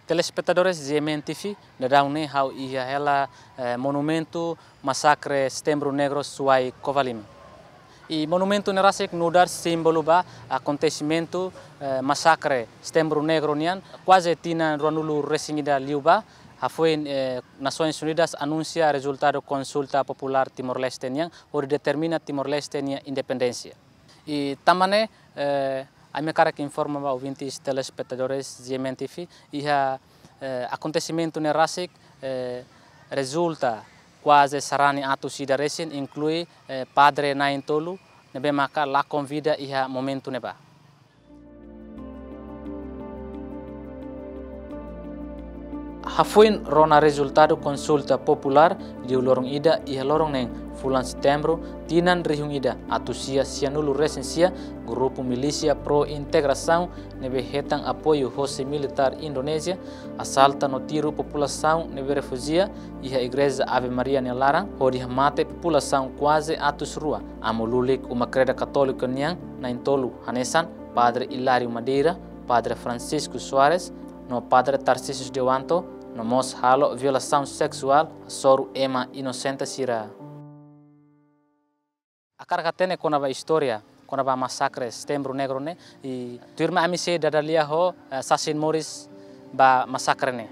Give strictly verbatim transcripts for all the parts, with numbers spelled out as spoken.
Telespetadores G M N T V, daudaun ne'e ha'u iha hela, eh, monumentu masakre Setembru Negru Suai Covalima. I monumentu ne'e rasik nu'udar símbolu ba akontesimentu, eh, masakre Setembru Negru nian, kuaze tinan ruanulu-resin-ida liubá, hafoin, eh, Nasoins Unidas anunsia rezultadu konsulta populár Timor-Leste nian, hodi determina Timor-Leste nia independénsia. I tanba ne'e, eh, ami hakarak informa ba ouvintes telespetadores G M N T V, iha, eh, akontesimentu ne'e rasik, eh, rezulta kuaze sarani atus ida resin, inklui, eh, padre na'in-tolu, ne'ebé maka lakon vida iha momentu ne'ebá. Hafoin rona rezultadu konsulta populár, liu loron ida iha loron neen fulan Setembru, tinan rihun ida atus sia sianulu-resin-sia, grupu milísia pro-integrasaun ne'ebé hetan apoiu hosi militár Indonézia, asalta no tiru populasaun ne'ebé refújiu iha Igreja Ave Maria nia laran, hodi hamate populasaun kuaze atus rua. Amu lulik Uma Kreda Katólika nian na'in-tolu hanesan Padre Hilário Madeira, Padre Francisco Soares, no Padre Tarcísio Dewanto, no mós halo violasaun seksuál hasoru ema inosente sira. Hakarak hatene kona-ba istória, kona-ba masakre Setembru Negru ne'e, i tuirmai ami sei dada lia ho, eh, sasin moris ba masakre ne'e.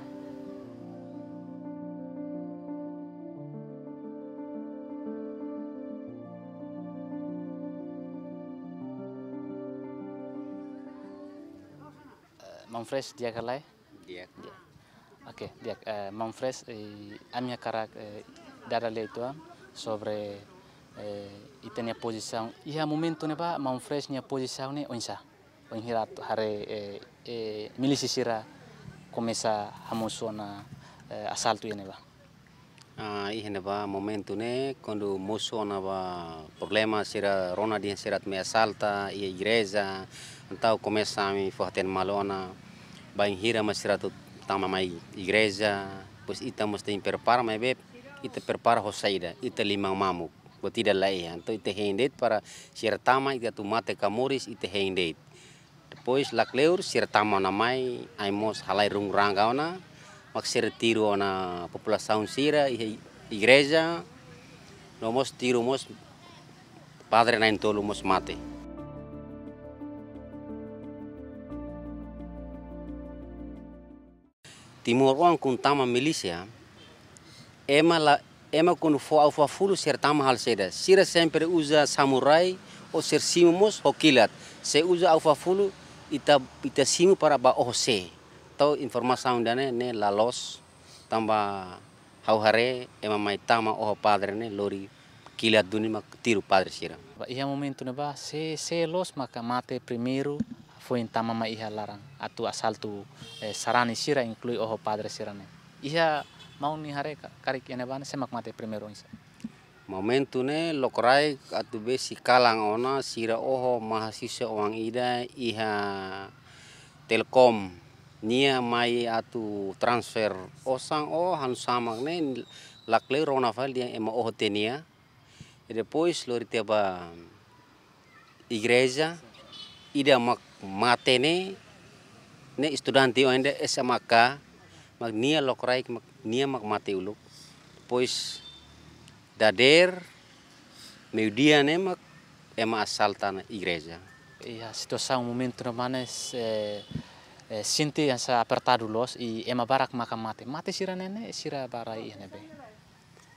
Eh, Maun Fresh, di'ak ka lae? Di'ak. Di'ak. Oke, di'ak, eh, Maun Fresh, eh, ami hakarak, eh, dada lia uitoan sobre, eh, ita-nia pozisaun. Iha momentu ne'ebá, Maun Fresh nia pozisaun ne'e oinsá? Bainhira atu haree, eh, eh, milísia sira komesa hamosu ona, eh, asaltu iha ne'ebá. Ah, iha ne'ebá momentu ne'e, kuandu mosu ona ba problema sira rona dehan sira atu mai asalta iha igreja, entaun komesa ami fó-hatene malu ona bainhira mak sira atu tama mai igreja, depois ita mós tenke prepara, maibé ita prepara ho saida, ita liman mamuk, buat ida la iha, entaun ita hein de'it para sira tama, ita atu mate ka moris, ita hein de'it. Depois lakleur sira tama ona mai, ami mós halai rungu-ranga ona, mak sira tiru ona populasaun sira iha igreja, no mós tiru mós padre na'in-tolu mós mate. Timoroan kuandu tama milísia, ema la, ema kuandu fó aufafulu sira tama halo saida. Sira sempre uza samurai ou sira simu mós ho kilat. Se uza aufafulu ita, ita simu para ba oho sé. Entaun informasaun ida-ne'e, ne'e la loos. Tanba ha'u haree ema mai tama oho padre ne'e lori kilat duni mak tiru padre sira. Ba iha momentu ne'ebá sé, sé loos maka mate primeiru, foin tama mai iha laran atu asaltu, eh, sarani sira inklui oho padre sira-ne'e. Iha maun nia haree ka-, karik iha ne'ebá ne'e sé mak mate primeiru oinsá? Momentu ne'e lokraik atu besik kalan ona sira oho mahasiswa oan ida iha Telkom. Nia mai atu transfer osan ou hanu samak ne'e lakleur rona fali dehan ema oho tiha nia. I depois lori tiha ba igreja, ida mak mate ne'e, ne'e estudante oan ida S M K, mak nia lokraik mak, nia mak mate uluk. Depois dadeer, meiudia ne'e mak ema asalta ona igreja. Iha situasaun momentu ne'ebá ne'e, eh, eh, sente hanesan apertadu loos, i ema barak maka mate. Mate sira-ne'e ne'e, sira ba rai iha ne'ebé?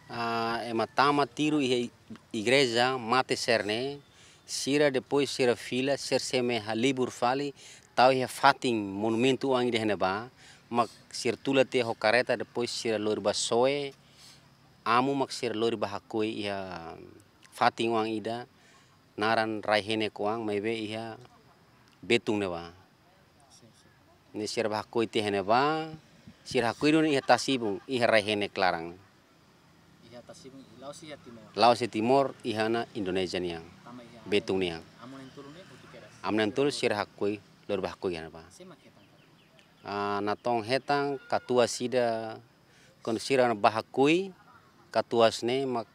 Ah, ema tama tiru iha i-, igreja, mate sira-ne'e, sira depois sira fila, sira sei mai halibur fali, tau iha fatin monumentu oan ida iha ne'ebá, mak sira tula tiha ho kareta, depois sira lori ba soe, amu mak sira lori ba hakoi iha fatin oan ida, naran rai-henek oan, maibé iha Betun ne'ebá. Ne'e sira ba hakoi tiha ne'ebá, sira hakoi duni iha tasi-ibun, iha rai-henek laran. Iha tasi-ibun, la'ós iha Timor. La'ós iha Timor, iha ona Indonézia nian. Tama iha Betun nian. Amu na'in-tolu ne'e hotu kedas. Amu na'in-tolu sira hakoi, lori ba hakoi iha ne'ebá. Sé mak hetan karik? Ah, natoon hetan katuas ida, kuandu sira ba hakoi, katuas ne'e mak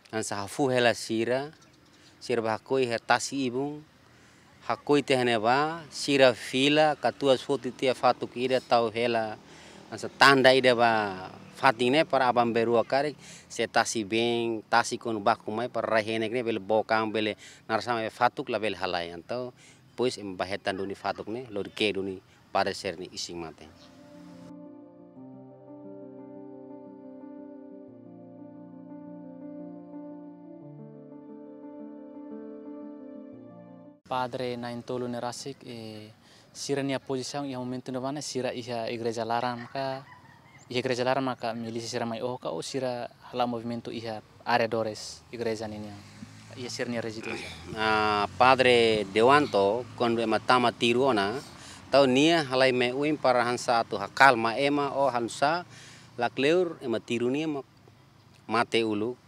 hanesan hafu hela sira, sira ba hakoi iha tasi-ibun, Hakoi tiha ne'ebá, sira fila, katuas foti tiha fatuk ida tau hela, hanesan tanda ida ba fatin ne'e para aban-bainrua karik, se tasi been, tasi kuandu baku mai para rai-henek ne'e bele bokan, bele naran sá mai fatuk labele halai. Entaun, depois ema bá hetan duni fatuk ne'e, lori ke'e duni padre sira-nia isin-mate. Padre na'in-tolu ne'e rasik, eh, sira-nia pozisaun iha momentu ne'ebá ne'e, sira iha igreja laran ka, iha igreja laran maka milísia sira mai oho ka, ou sira hala'o movimentu iha arredores igreja ninian, iha sira-nia rezidénsia? Ah, Padre Dewanto, kuandu ema tama tiru ona, tau nia halai mai oin para hanesan atu hakalma ema, ou hanesan lakleur ema tiru nia mak mate uluk,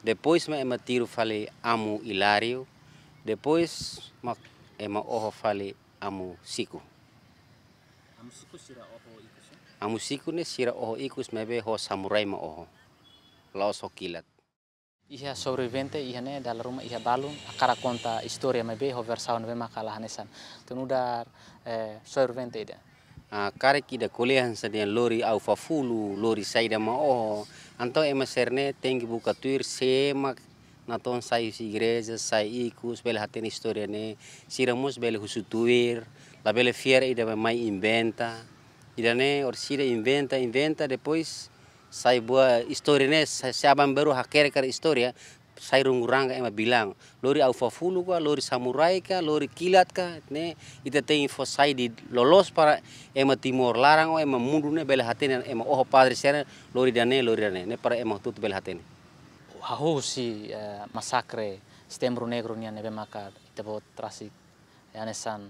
depois mak ema tiru fali Amu Hilário, depois mak ema oho fali Amu Siku. Amu Siku sira oho ikus, eh? Amu Siku ne'e sira oho ikus maibé ho samurai mak oho. La'ós ho kilat. Iha sobrevivente iha ne'e dala ruma iha balun hakarak konta istória maibé ho versaun ne'ebé maka la hanesan. Atu nu'udar, eh, sobrevivente ida. Ah, karik ida ko'alia hanesan dehan lori au fafulu, lori saida mak oho. Entaun ema sira-ne'e tenke buka tuir sé mak natoon sai husi igreja, sai ikus, bele hatene istória ne'e. Sira mós bele husu tuir, labele fiar ida mai inventa. Ida-ne'e orsida inventa, inventa, depois sai buat istória ne'e, sai, sai aban-bainrua hakerek karik istória, sai rungu-ranga ema bilang. Lori au fafulu ka, lori samurai ka, lori kilat ka, ne'e ita tenke fó sai duni loloos para ema Timor laran ou ema mundu ne'e bele hatene, ema oho padre sira lori ida-ne'e, lori ida-ne'e. Ne'e para ema hotu-hotu bele hatene. Hahú husi, eh, masakre Setembru Negru nian ne'ebé maka ita-boot rasik hanesan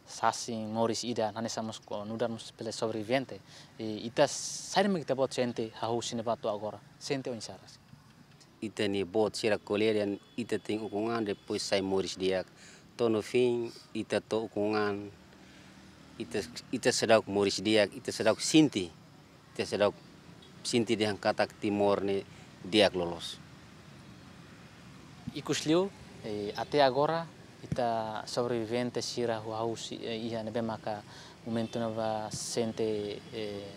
sasin moris ida, hanesan mós ko nu'udar mós bele sobrevivente. I ita saida mak ita-boot sente hahú husi ne'ebá to'o agora? Sente oinsá rasik? Ita-nia boot sira ko'alia dehan ita tenke ukun an, depois sai moris di'ak. To'o no fim, ita to'o ukun an, ita, ita seidauk moris di'ak, ita seidauk sente. Ita seidauk sente dehan katak Timor ne'e di'ak loloos. Ikusliu, eh, até agora, ita sobrevivente sira hahú husi, eh, iha ne'ebé maka momentu ne'ebá sente, eh,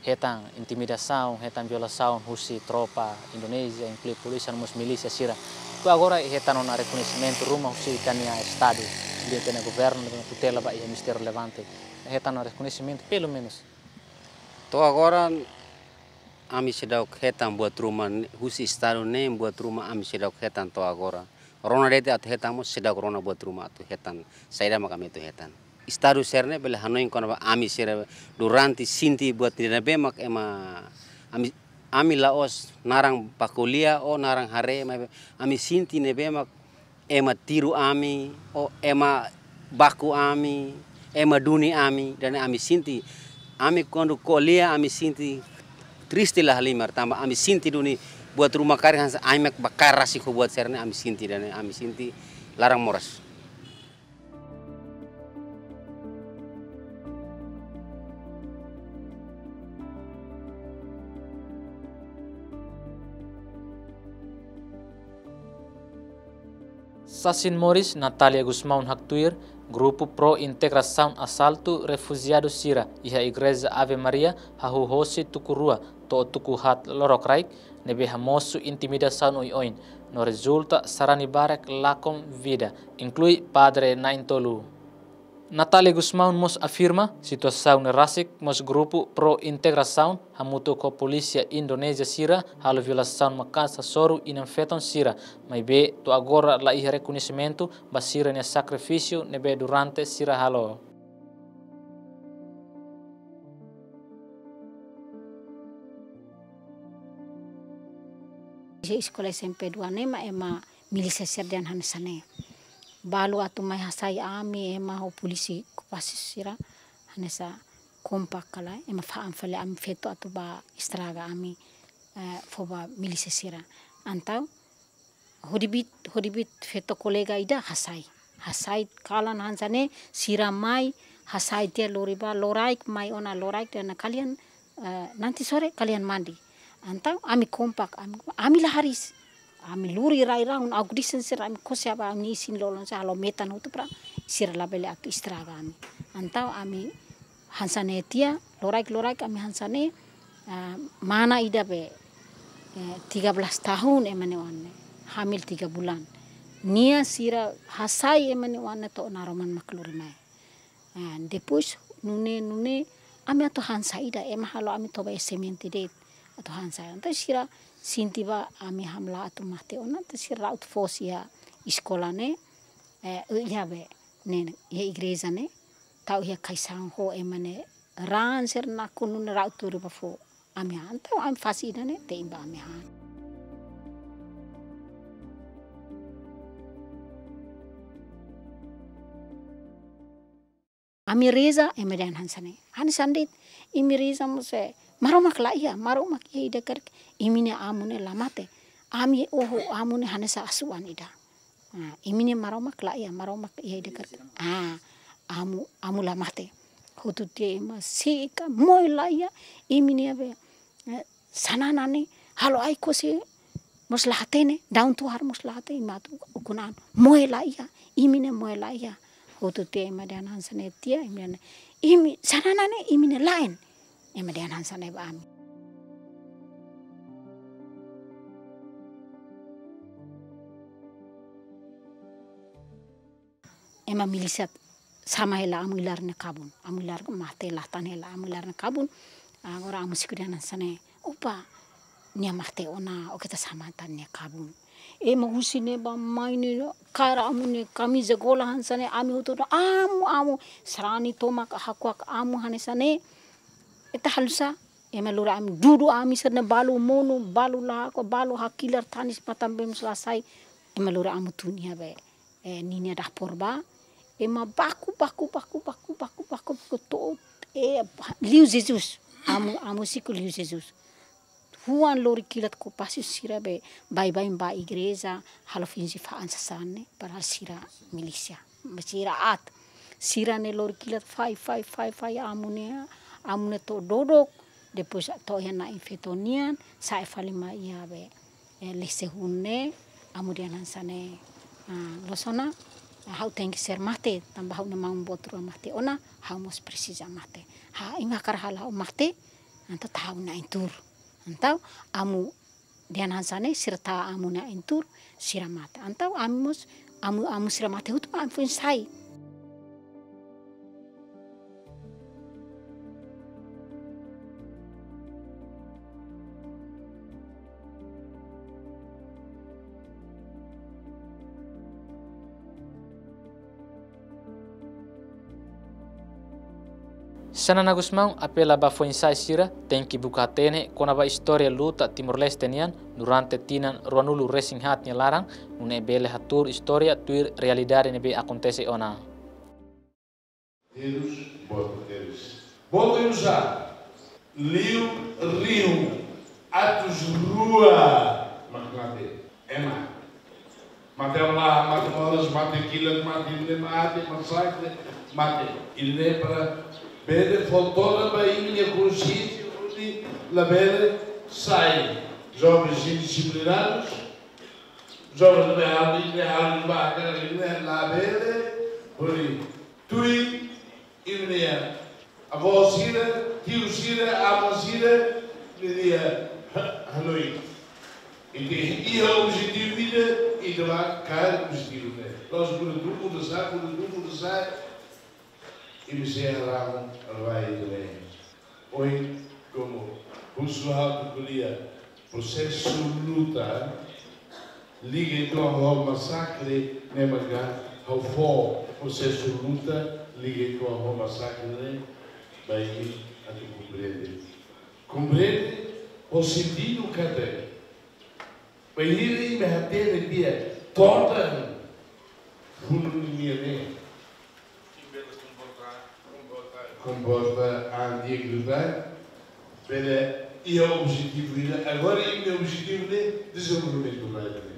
hetan intimidasaun, hetan violasaun husi tropa Indonézia, inklui polísia no mós milísia sira. To'o agora hetan ona rekoñesimentu ruma husi ita-nia Estadu, husi ita-nia governu, tutela ba iha ministériu relevante. Hetan ona rekoñesimentu, pelumenus. To'o agora, ami seidauk hetan buat ruma n-, husi Estadu ne'e, buat ruma ami seidauk hetan to'o agora. Rona de'it atu hetan mós seidauk rona buat ruma atu hetan saida mak ami atu hetan. Estadu sira-ne'e bele hanoin kona-ba ami sira durante sente buat ida ne'ebé mak ema ami, ami la'ós naran ba ko'alia ou naran haree, maibé ami sente ne'ebé mak ema tiru ami, ou ema baku ami, ema duni ami, ida-ne'e ami sente. Ami kuandu ko'alia ami sente triste la halimar, tanba ami sente duni buat ruma karik hanesan ami mak bakaer rasik ho buat sira-ne'e ami sente, ida-ne'e ami sente laran moras. Sasin moris Natália Gusmão haktuir, grupu pro-integrasaun asaltu refujiadu sira iha Igreja Ave Maria hahú hosi tuku rua to'o tuku haat lorokraik, ne'ebé hamosu intimidasaun oioin, no rezulta sarani barak lakon vida, inklui padre na'in-tolu. Natália Gusmão mós afirma, situasaun ne'e rasik mós grupu pro-integrasaun hamutuk ho polísia Indonézia sira halo violasaun maka'as hasoru inan-feton sira, maibé to'o agora la iha rekoñesimentu ba sira-nia sakrifísiu ne'ebé durante sira halo. Iha eskola S M P dua ne'e mak ema milísia sira dehan hanesan ne'e. Balu atu mai hasai ami, ema ho polísia okupasi sira hanesan kompak ka lae, ema fa'an fali ami feto atu bá estraga ami, eh, fó ba milísia sira. Entaun, hodi bit, hodi bit feto kolega ida hasai. Hasai kalan hanesan ne'e, sira mai hasai tiha lori bá, loraik mai ona loraik dehan kalian, eh, nanti sore kalian mandi. Entaun ami kompak, ami, ami la hariis. Ami lori rai-rahun, agudisen sira, ami kose ba ami isin lolon sira halo metan hotu para sira labele atu estraga ami. Entaun ami hanesan ne'e tiha, loraik-loraik ami hanesan ne'e, ah, mana ida be, eh, tiga belas tahun ema nia oan ne'e, hamil tiga bulan. Nia sira hasai ema nia oan ne'e to'o naroman mak lori mai. Ah, depois nune'e, nune'e, ami atu hanesan saida, ema halo ami toba iha semente de'it, atu hanesan saida. Entaun sira sente ba ami hamlaha atu mate ona, entaun sira ra'ut fos iha eskola ne'e, eh, iha be, ne'e, iha igreja ne'e, tau iha kaixaun ho ema nia raan sira nakonu ne'e ra'ut tuur ba fó ami han. Entaun ami fase ida-ne'e te'in ba ami han. Ami reza, ema dehan hanesan ne'e. Hanesan de'it, imi reza mós, eh, Maromak la iha, Maromak iha ida karik, imi-nia amu ne'e la mate. Ami oho amu ne'e hanesan asuwa'an ida. Ah, imi-nia Maromak la iha, Maromak iha ida karik. Ah, amu, amu la mate. Hotu tiha ema seka, moe la iha, imi-nia be, eh, xanana ne'e, halo ai-kose mós la hatene, daun tohar mós la hatene, imi atu ukun an. Moe la iha, imi-nia moe la iha. Hotu tiha ema dehan hanesan ne'e tiha, imi dehan, imi, xanana ne'e, imi-nia la'en. Ema dehan hanesan ne'e ba ami. Ema milísia sama hela amu Ilar nia kabun. Amu Ilar mate la hatene hela amu Ilar nia kabun. Agora amu Siku dehan hanesan ne'e: "Opa, nia mate ona, oke ita sama tan nia kabun." Ema husi ne'ebá mai ne'e, kaer amu nia kamiza gola hanesan ne'e, ami hotu dehan: "Amu, amu." Sarani tomak hakuak amu hanesan ne'e. Ita halo sá, ema lori ami, dudu ami sira-ne'e balu monu, balu lahako, balu hakilar tanis matan bee mós la sai. Ema lori amu tun iha be, eh, ninia dapur bá. Ema baku, baku, baku to'o, eh, liu Jesus. Amu, amu Siku liu Jesus. Huan lori kilat kopassus sira be baibain ba igreja, halo finje fa'an sasán ne'e, padahal sira milísia. Sira aat. Sira ne'e lori kilat fai, fai, fai, fai amu ne'e, amu ne'e to'o dodok, depois to'o iha na'in-feton nian, sa'e fali mai iha be, eh, lese hun ne'e, amu dehan hanesan ne'e, ah, loos ona, ha'u tenke ser mate, tanba ha'u-nia maun boot rua mate ona, ha'u mós presiza mate. Ha, imi hakarak halo ha'u mate, entaun tau ha'u na'in-tuur. Entaun amu dehan hanesan ne'e, sira tau amu na'in-tuur, sira mate. Entaun ami mós, amu, amu sira mate hotu, ami foin sai. Xanana Gusmão apela ba foin-sa'e sira tenke buka hatene kona-ba istória luta Timor-Leste nian durante tinan ruanulu-resin-haat nia laran, nune'e bele hatuur istória tuir realidade ne'ebé akontese ona. Terus, boot terus. Boot terus a. Liu rihun atus rua mak mate. Ema. Mate hamlaha, mate moras, mate kilat, mate ne'e, mate masakre, mate. Ida-ne'e para bele fó todan ba imi-nia konxiénsia, hodi labele sai jovens indisciplinados, jovens ne'ebé halo, ne'ebé halo ba, ne'ebé labele hodi tuir imi-nia avó sira, tiu sira, ama sira ninia ha-, hanoin. Ita iha objetivu ida, ita bá kaer objetivu ne'e. La'ós buat duni muda sá, buat duni muda sá, imi sei harahun rai ida-ne'e. Ohin, komu husu ha'u ko'alia, prosesu luta liga uitoan ho masakre ne'e maka ha'u fó prosesu luta liga uitoan ho masakre ne'e ba imi atu komprende. Komprende ho sentidu katak bainhira imi hatene tiha todan funu ninia ne'e. Komporta an di'ak liután, bele iha objetivu ida, agora imi-nia objetivu ne'e dezenvolvimentu rai ida-ne'e.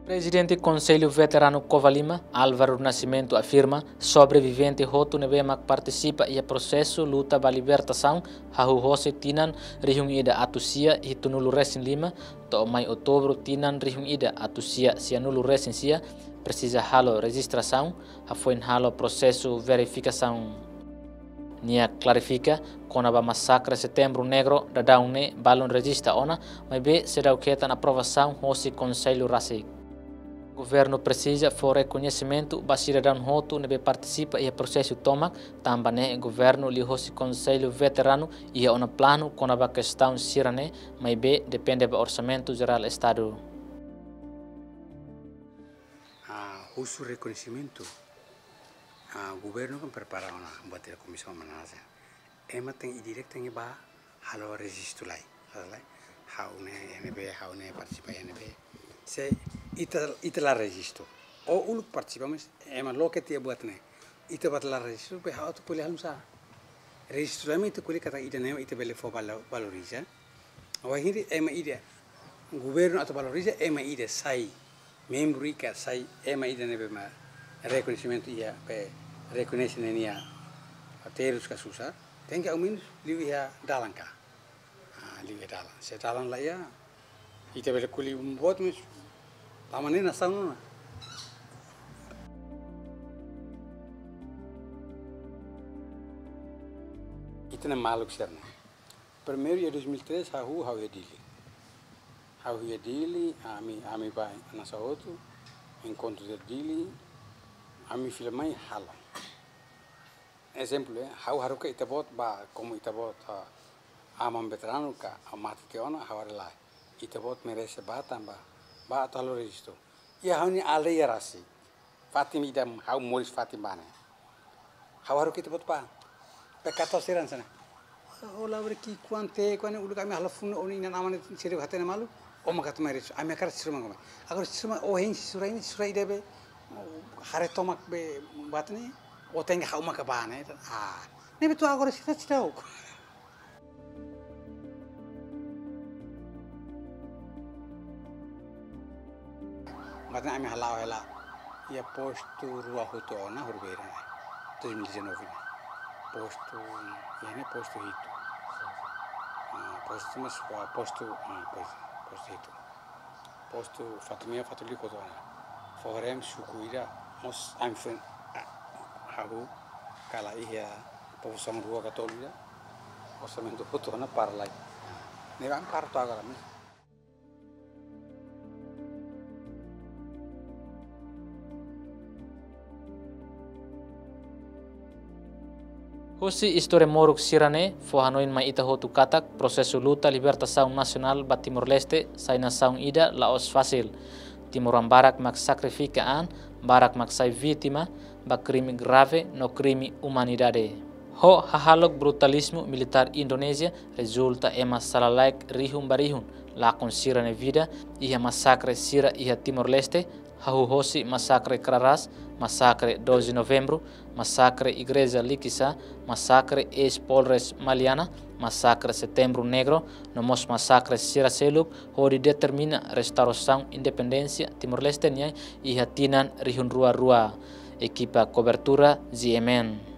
Prezidente Konsellu Veteranu Covalima, Álvaro Nascimento, afirma sobrevivente hotu ne'ebé mak partisipa iha prosesu luta ba libertasaun hahú hosi tinan rihun ida atus sia hitunulu resin lima to'o mai Outubru tinan rihun ida atus sia sianulu resin sia presiza halo rejistrasaun, hafoin halo prosesu verifikasaun. Nia klarifika kona-ba masakre Setembru Negru daudaun ne'e balun rejista ona, maibé seidauk hetan aprovasaun hosi konsellu rasik. Governu presiza fó rekoñesimentu ba sidadaun hotu ne'ebé partisipa iha prosesu tomak, tanba ne'e governu liuhosi Konsellu Veteranu iha ona planu kona-ba kestaun sira-ne'e, maibé depende ba Orsamentu Jerál Estadu. Ah, husu rekoñesimentu. Ah, governu kan prepara ona buat ida komisaun manasa. Ema tenke direta tenke ba halo rejistu lai. Halo lai. Ha'u ne'e N B, ha'u ne'e partisipa N B. Se ita, ita la rejistu. O uluk partisipa, mas ema loke tiha buat ne'e. Ita buat la rejistu, be ha'u atu ko'alia halo nusá. Rejistu lai mak ita ko'alia katak ida-ne'e ita bele fó valo-, valoriza. Wainhira ema ida, governu atu valoriza ema ida sai membru ka sai ema ida ne'ebé mak rekoñesimentu iha, be rekoñese ninia terus ka susar, tenke aumenus liu iha dalan ka. Ah, liu iha dalan. Se dalan la iha, ita bele ko'alia um buat, mas tama ne'e nasaun ona. Ita-nia maluk sira-ne'e. Primeiru iha dois mil e três, ha'u, ha'u iha Dili. Ha'u iha Dili, ami, ami ba hanesan hotu, enkontru iha Dili, ami fila mai halo. Ezemplu, eh, ha'u haruka ita-boot ba, komu ita-boot, ah, aman veteranu ka, ah, mate tiha ona, ha'u haree lae. Ita-boot merese ba tanba, ba atu halo rejistu. Iha ha'u-nia aldeia rasik. Fatin ida ha'u moris fatin ba ne'e. Ha'u haruka ita-boot ba. Be kato siran sana. Ola beri ki kuante, kuante uluk ami halo funu o-nia inan-aman sira hatene malu. O maka toma resu. Ami hakarak sira maka mai. Agora sira mak o hein sira ini sira ida be. Haree tomak be buat ne'e. O tenke ha'u maka ba ne'e. Ah. Ne'ebé to'o agora sira seidauk. Mas ami hala'o hela iha postu rua hotu ona horibainhira dois mil e dezanove ne'e. Postu, iha ne'e postu hitu. Ah, postu mas, ah, postu, ah, postu, postu hitu. Postu Fatumea, Fatulí hotu ona. Foho-rem suku ida mós ami foin, ah, ha'u kala iha povu son rua ka tolu ida. Orsamentu hotu ona para lai. Ne'ebé ami para to'o agora mes. Husi istória moruk sira-ne'e, fó hanoin mai ita hotu katak, prosesu luta libertasaun nasionál ba Timor-Leste, sai nasaun ida la'ós fasil. Timoroan barak mak sakrifika an, barak mak sai vítima, ba krime grave no krime umanidade. Ho hahalok brutalizmu militár Indonézia, rezulta ema sala-laek rihun ba rihun lakon sira-nia vida iha masakre sira iha Timor-Leste, hahú hosi masakre Kraras, masakre doze Novembru, masakre Igreja Likisá, masakre eis-Polres Maliana, masakre Setembru Negru, no mós masakre sira seluk, hodi determina restaurasaun independénsia Timor-Leste nian iha tinan rihun rua rua. Ekipa kobertura G M N.